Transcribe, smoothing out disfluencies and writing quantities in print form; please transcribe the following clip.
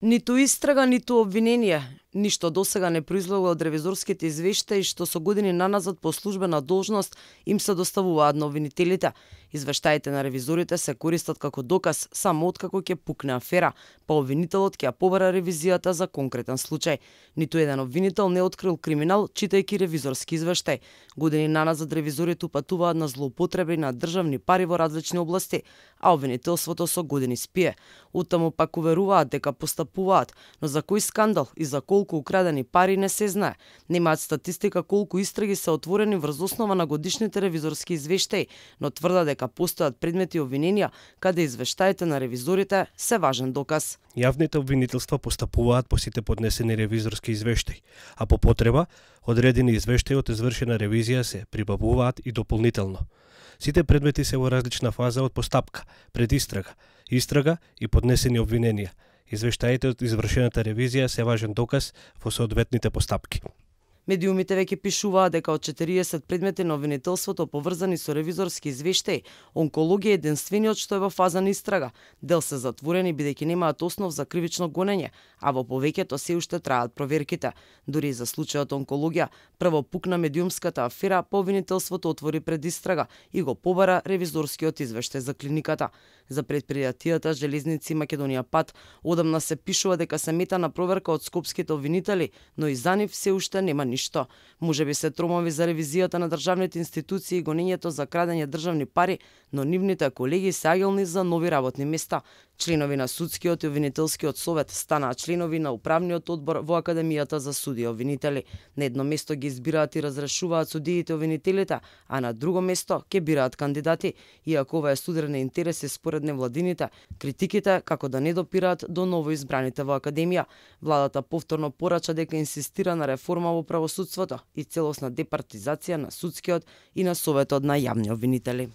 Ниту истрага, ниту обвинение. Ништо досега не произлегло од ревизорските извештаи што со години наназад по службена должност им се доставуваат на обвинителите. Извештаите на ревизорите се користат како доказ само откако ќе пукне афера, па обвинителот ќе ја побара ревизијата за конкретен случај. Ниту еден обвинител не открил криминал читајќи ревизорски извештај. Години наназад ревизорите упатуваат на злоупотреби на државни пари во различни области, а обвинителството со години спие. Оттаму пак уверуваат дека постапуваат, но за кој скандал и за колку украдени пари не се знае. Немаат статистика колку истраги се отворени врз основа на годишните ревизорски извештаи, но тврдат дека постојат предмети и обвиненија каде извештаите на ревизорите се важен доказ. Јавните обвинителства постапуваат по сите поднесени ревизорски извештаи, а по потреба одредени извештаи од извршена ревизија се прибавуваат и дополнително. Сите предмети се во различна фаза од постапка, истрага и поднесени обвиненија. Извештаите од извршената ревизија се важен доказ во соодветните постапки. Медиумите веќе пишуваат дека од 40 предмети на обвинителството поврзани со ревизорски извештаи, онкологија е единствениот што е во фаза на истрага. Дел се затворени бидејќи немаат основ за кривично гонење, а во повеќето се уште траат проверките. Дури и за случајот онкологија, прво пукна медиумската афера, по обвинителството отвори предистрага и го побара ревизорскиот извештај за клиниката. За предпријатијата Железници Македонија Пат одамна се пишува дека се мета на проверка од скопските обвинители, но и за нив се уште нема ништо. Можеби се тромови за ревизијата на државните институции и гонењето за крадење државни пари, но нивните колеги се агилни за нови работни места. Членови на судскиот и обвинителскиот совет станаа членови на управниот одбор во Академијата за суди и обвинители. На едно место ги избираат и разрешуваат судиите и обвинителите, а на друго место ќе бираат кандидати, иако ова е студирани интереси според невладините, критиките како да не допираат до новоизбраните во Академија. Владата повторно порача дека инсистира на реформа во правосудството и целосна департизација на судскиот и на советот на јавни обвинители.